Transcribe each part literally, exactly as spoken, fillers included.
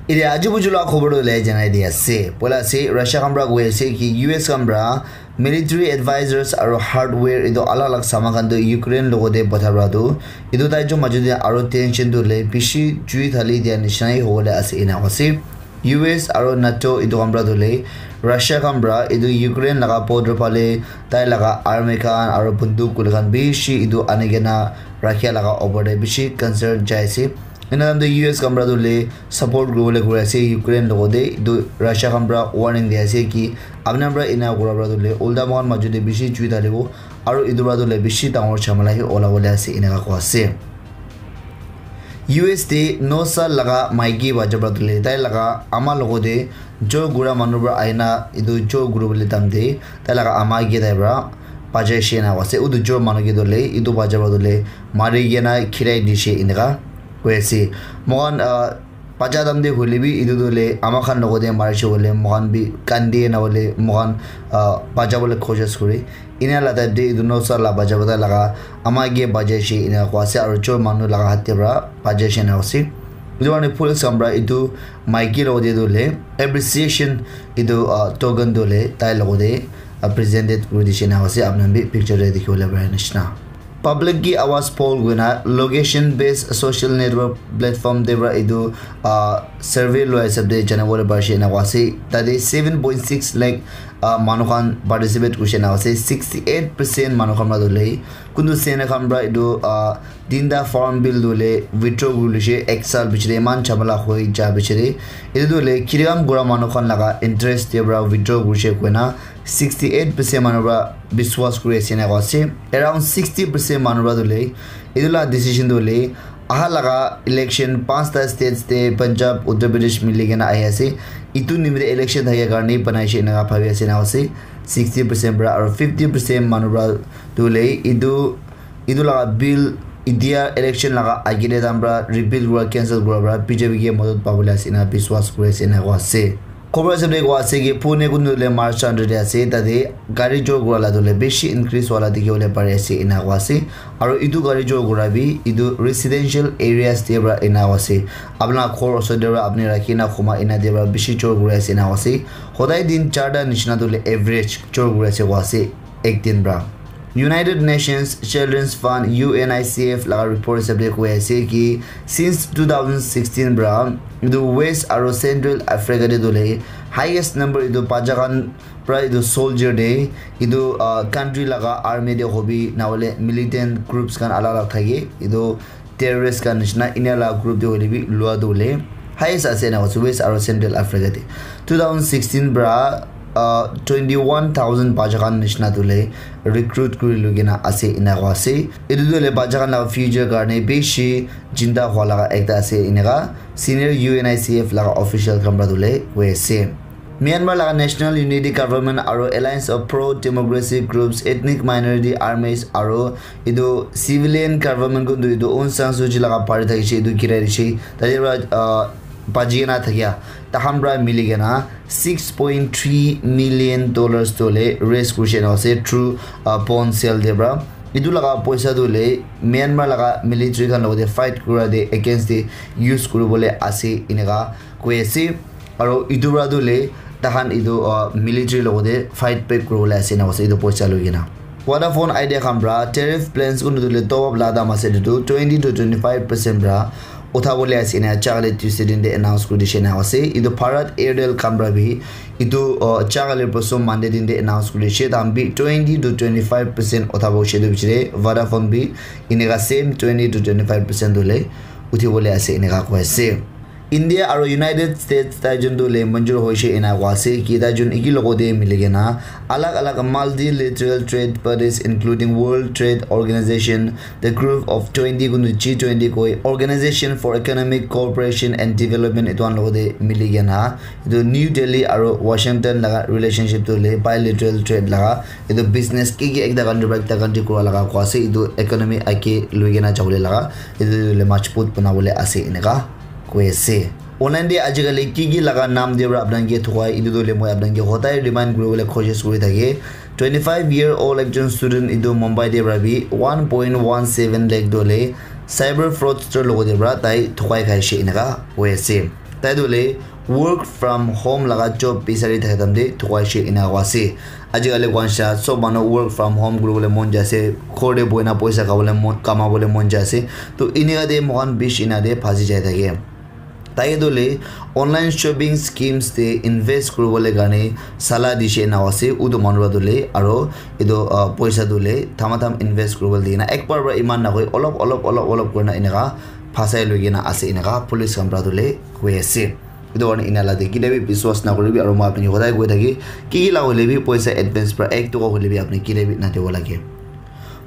Ite aji buju la khobor tu le janai di ase. Poila ase, Russia khan pra koi ase ki U S khan pra military advisors aro hardware itu alag alag saman khan tu Ukraine logote patha pra tu itu tai jun maju de aro tension tu le bishi jui thali dia nishina hi hobole ase ena ase. U S aro NATO itu khan pra tu le Russia khan pra itu Ukraine laga border phale tai laga army khan aro bunduk kuli khan bishi itu ani kena rakhia laga opor te bishi concern jai ase. Ena khan tu U S khan pra tu le support kuribole kuri ase Ukraine logote. Itu Russia khan pra warning di ase ki apni khan pra ena kura pra tu le ulta moikhan maju te bishi jui thalibo aro itu pra tu le bishi dangor jhamela hi ola bole ase ena ka koa ase. U S te no sal laga maiki bacha pra tu le tai laga ama logote jor kura manu pra ahina itu jor kuribole time te tai laga ama ke tai pra bachai she na ase. Utu jor manu ke tu le itu bacha pra tu le mari kena khirai di she eneka koi ase. Moikhan, ah, bacha time te hoile bi itu tu le ama khan logote mari she hoile moikhan bi kandi na hoile moikhan, ah, bacha bole koshish kuri. Ena la type te itu no sal la bacha bata laga ama ke bachai she ena koi ase aro jor manu laga hat te pra bachai she na ase. Itu karne police khan pra itu maiki logote tu le appreciation itu, ah, token tu le tai logote, ah, presented kuri di she na ase. Apni khan bi picture te dikhi bole pari nishina. Public ki Awaaz poll koina location based social network platform te pra itu, ah, survey loi hisab te jana bole pari she na ase. Tate seven point six lakh, ah, manu khan participate kuri she na ase. Sixty eight percent manu khan pra tu le kuntu sena khan pra itu, ah, tinta farm bill tu le withdraw kuri lishe ek sal bichire eman jhamela hoi ja bichire. Itu tu le kiram kura manu khan laga interest te pra withdraw kuri she koina sixty eight percent manu pra biswas kuri ase na koi ase. Around sixty percent manu pra tu le itu la decision tu le aha laga election panchta states te Punjab, Uttar Pradesh mili kena ahi ase. Itu nimite election thake karne banai she eneka bhabi ase na ase. Sixty percent pra aro fifty percent manu pra tu le itu itu laga bill itia election laga agile time pra repeal kura cancel kura pra B J P ke madad pabole ase ena biswas kuri ase ena koi ase. Khobor ase de koi ase ki Pune kundu le March under de ase tate gari jor kura la tu le bishi increase wala dikhi bole pari ase ena koi ase. Aro itu gari jor kura bi itu residential areas te pra ena koi ase. Apna ghor osor te pra apni rakhi na khuma ena te pra bishi jor kuri ase ena koi ase. Hodai din charta nishina tu le average jor kuri ase koi ase. Ek din pra. United Nations Children's Fund, U N I C F laga report hisab te koi ase ki since two thousand sixteen pra itu West aro Central Africa te tu le highest number itu bacha khan pra itu soldier te itu, ah, country laga army te hobi na hole militant groups khan alag alag thake itu terrorist khan nishina enia la group te hoile bi lua tu hoile highest ase ena koi ase West aro Central Africa te. Two thousand sixteen pra, uh, twenty one thousand bacha khan nishina tu hoile recruit kuri lui kena ase ena koi ase. Etu tu hoile bacha khan laga future karne bishi chinta hua laga ekta ase eneka senior U N I C F laga official khan pra tu hoile koi ase. Myanmar laga National Unity Government aro Alliance of Pro-Democracy Groups, Ethnic Minority Armies aro etu civilian government kuntu etu Aung San Suu Kyi laga party thakishe etu girai dishe. Tate pra, ah, baji kena thakia takhan pra mili kena six point three million dollars tu hoile raise kurishe na ase through, ah, bond sale te pra. Etu laga poisa tu hoile Myanmar laga military khan logote fight kura te against te use kuribole ase eneka koi ase. Aro etu para tu le takhan etu, ah, military logote fight back kuribole ase ena koise etu poisa loi kena. Vodafone Idea khan para tariff plans kuntu tu le top up la dam ase etu tu twenty to twenty five percent para uthabole ase ena chakale Tuesday din te announce kuri dishe ena ase. Etu Bharat Airtel khan para bi etu, ah, chakale posom Monday din te announce kuri dishe. Takhan bi twenty to twenty five percent uthabo hoishe etu bichare Vodafone bi eneka same twenty to twenty five percent tu le uthibole ase eneka koi ase. India aro United States tai jun tu le manjur hoishe ena koi ase ki tai jun eki logote mili kena alag alag multilateral trade bodies including World Trade Organization, the Group of twenty kuntu G twenty koi, Organization for Economic Cooperation and Development etu khan logote mili kena etu New Delhi aro Washington laga relationship tu le bilateral trade laga etu business ki ki ekta country para ekta country kura laga koi ase etu economy age loi kena jabole laga etu tu le majbut banabole ase eneka koi ase. Online te ajikali ki ki laga naam de para apni khan ke thukai, etu tu hoile moi apni khan ke hodai remind kuribole koshish kuri thake. Twenty five year old ekjon student etu Mumbai de para bi one point one seven lakh tu hoile cyber fraudster logote para tai thukai khaishe eneka koi ase. Tai tu le work from home laga job bisari thaka time te thukaise ena koa ase. Ajikali koa nisina sob manu work from home kuribole mon jai ase, ghor te bohi na poisa khabole mon, kamabole mon jai ase. To enika te moikhan bishi ena te phasi jai thake. Tai tu le online shopping schemes te invest kuribole karne sala dise ena koa ase. Utu manu para tu le aro etu, ah, poisa tu le thamatham invest kuribole dina ekbar para iman nakoi olop olop olop olop kurina eneka phasai loi kena ase eneka police khan para tu le koi ase. Etu karne ena la te kitia bi biswas nakuribi, aro moi apni hodai koi thaki, ki ki la hoile bi poisa advance pra ek toka hoile bi apni kitia bi nadibo lage.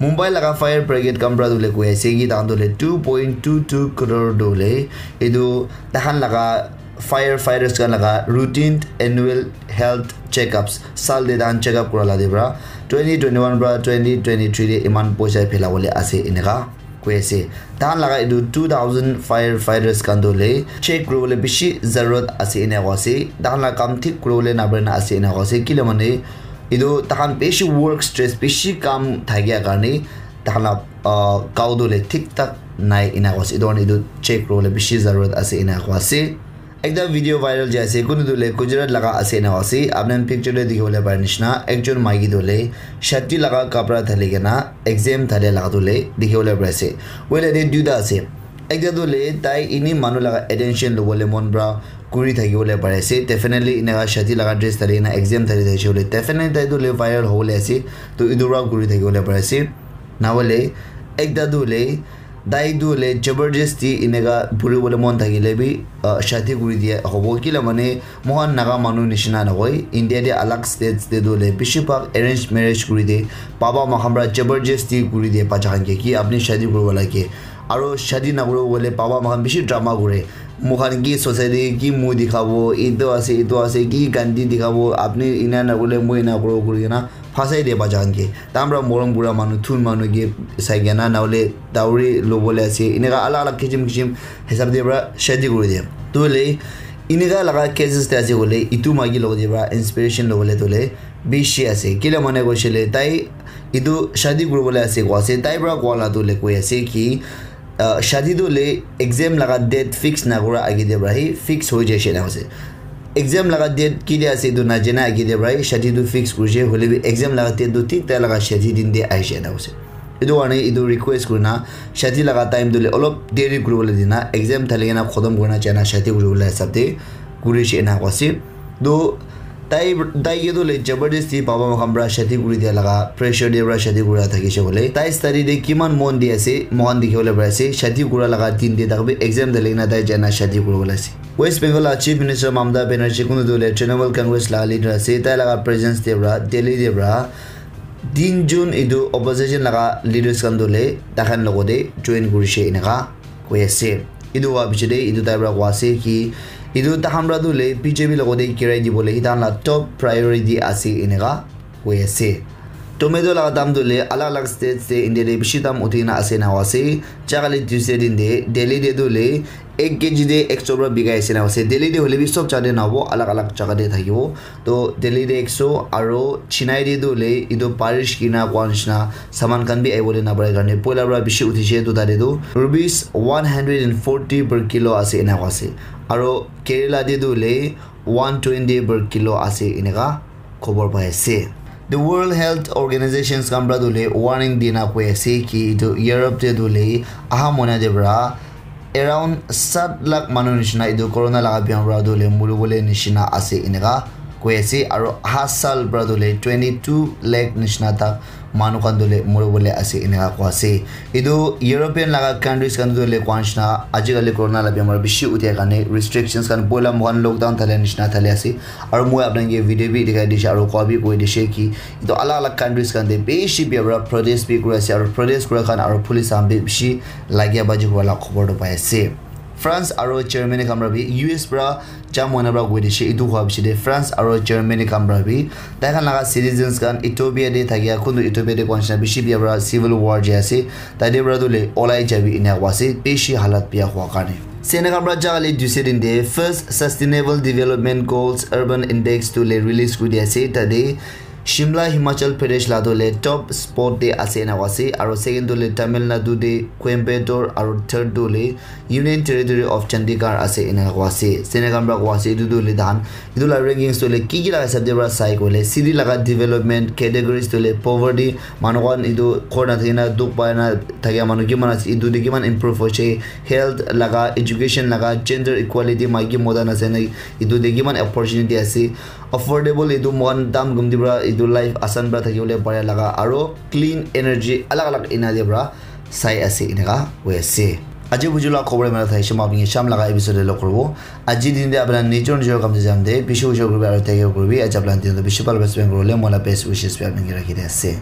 Mumbai laga fire brigade khan pra tu le koi ase ki tahan tu le two point two two crore tu le etu tahan laga firefighters khan laga routine annual health checkups, sal te tahan checkup kura la te pra twenty twenty-one pra twenty twenty-three te iman poisa phela bole ase eneka koi ase. Tahan laga etu two thousand firefighters khan tu le check kuribole bishi zarurat ase ena koa ase. Tahan la kam thik kuribole napare na ase ena koa ase. Kile mane etu tahan bishi work stress, bishi kam thakia karne tahan la, ah, gao tu le thik thak nai ena koa ase. Etu karne etu check kuribole bishi zarurat ase ena koa ase. Ekta video viral jai ase, kunu tu le Gujarat laga ase ena ase. Apni khan picture te dikhi bole pare nishina, ekjon maiki tu le shadi laga kapra thali kena exam thali laga tu le dikhi bole pare ase. Hoile te duita ase. Ekta tu le tai ini manu laga attention lobole mon pra kuri thaki bole pare ase. Definitely ena shadi laga dress thali kena exam thali thaki bole definitely tai tu le viral hobole ase. To etu pra kuri thaki bole pare ase. Na hoile ekta tu le tai tu le jabardasti eneka puri bole mon thakile bi, ah, shadi kuri dia hobo. Kila mane moikhan Naga manu nishina nahoi. India te alag states te tu le bishi bhag arranged marriage kuri de. Baba moikhan pra jabardasti kuri de bacha khan ke ki apni shadi kuribo lage. Aro shadi nakuribo hoile baba moikhan bishi drama kure. Moikhan ki society ki muh dikhabo, etu ase, etu ase, ki gandi dikhabo, apni ena nakurile moi ena kuribo kuri kena phasai de bacha khan ke. Tahan pra morom kura manu, thun manu ke sai kena, nahole dowry lobole ase. Eneka alag alag kisim kisim hisab te pra shadi kuri de. Tu le, eneka laga cases te ase koile, etu maiki logote pra inspiration lobole tu le bishi ase. Kile mane koishe le, tai etu shadi kuribole ase koa ase. Tai pra koa la tu le koi ase ki, ah, shadi tu le exam laga date fix nakura age te pra hi fix hoi jaise ena ase. Exam laga date kitia ase etu najana age te pra hi shadi tu fix kurishe, hoile bi exam laga date tu thik tai laga shadi din te ahishe ena ase. Etu karne etu request kurina shadi laga time tu le olop deri kuribole dina, exam thali kena khotom kurina jaina shadi kuribole hisab te kurishe ena koa ase. To tai, tai ke tu le jabardasti baba moikhan pra shadi kuri dia laga pressure te pra shadi kura thakishe bole. Tai study te kiman mon di ase, moikhan dikhi bole pari ase. Shadi kura laga din te tak bi exam thali kena tai jaina shadi kuribole ase. West Bengal la Chief Minister Mamata Banerjee kunu tu le Trinamool Congress la leader ase. Tai laga presence te pra, Delhi te pra, tin jun etu opposition laga leaders khan tu le taikhan logote join kurishe eneka koi ase. Etu howa piche te etu tai pra koa ase ki etu tahan pra tu le B J P logote girai dibole hi tahan la top priority ase eneka koi ase. Tomato laga dam tu le alag alag states te India te bishi dam uthi kena ase ena koa ase. Jagale Tuesday din te Delhi te tu le ek K G te ek so pra bikai ase ena koa ase. Delhi te hoile bi sob jaga te nahobo, alag alag jaga te thakibo. To Delhi te ek so aro Chennai te tu hoile etu barish kina koa nishina saman khan bi ahibole napare karne poila pra bishi uthishe, to tate tu rupees one hundred and forty per kilo ase ena koa ase. Aro Kerala te tu hoile one twenty per kilo ase eneka khobor pai ase. The World Health Organizations khan pra tu hoile warning dina koi ase ki etu Europe te tu hoile aha mohina te pra around sat lakh manu nishina etu corona laga bimar pra tu hoile muribole nishina ase eneka koi ase, aro aha sal pra tu hoile twenty two lakh nishina tak manu khan tu hoile muribole ase eneka koi ase. Etu European laga countries khan tu hoile koa nishina ajikali corona laga bimar bishi uthia karne restrictions khan poila moikhan lockdown thalia nishina thalia ase, aro moi apni khan ke video bi dikhai dishe aro koa bi koi dishe ki etu alag alag countries khan te bishi bia pra protest bi kuri ase, aro protest kura khan aro police khan bi bishi lagia baji kura la khobor tu pai ase. France aro Germany khan pra bi, U S pra jam hoina pra koi dishe, etu howa piche te France aro Germany khan pra bi tai khan laga citizens khan Ethiopia te thakia, kuntu Ethiopia te koa nishina bishi bia pra civil war jai ase, tate pra tu le olai jabi ena koa ase, bishi halat bia howa karne. Sena khan pra jagale duse din te first Sustainable Development Goals Urban Index tu le release kuri di ase, tate Shimla, Himachal Pradesh la tu le top spot te ase ena koa ase, aro second tu le Tamil Nadu te Coimbatore, aro third tu le Union Territory of Chandigarh ase ena koa ase. Sene khan pra koa ase, etu tu le dan, etu la rankings tu le ki ki laga hisab te pra sai koile, city laga development, categories tu le poverty, manu khan etu ghor na thakina dukh pai na thakia manu kiman ase, etu te kiman improve hoise, health laga, education laga, gender equality, maiki mota na sene etu te kiman opportunity ase, affordable, etu moikhan dam gumti pra etu life asan pra thakibole pare laga, aro clean energy alag alag ena te pra sai ase eneka hoi ase. Aji buju la khobor mera thai shima apni sham laga episode te log koribo. Aji din te apna nijor nijor kam te jam de, bishi ujor kuribi aro take care kuribi. Aji apna din te bishi bhal best friend kuribole mola best wishes bi apni ke rakhi de ase.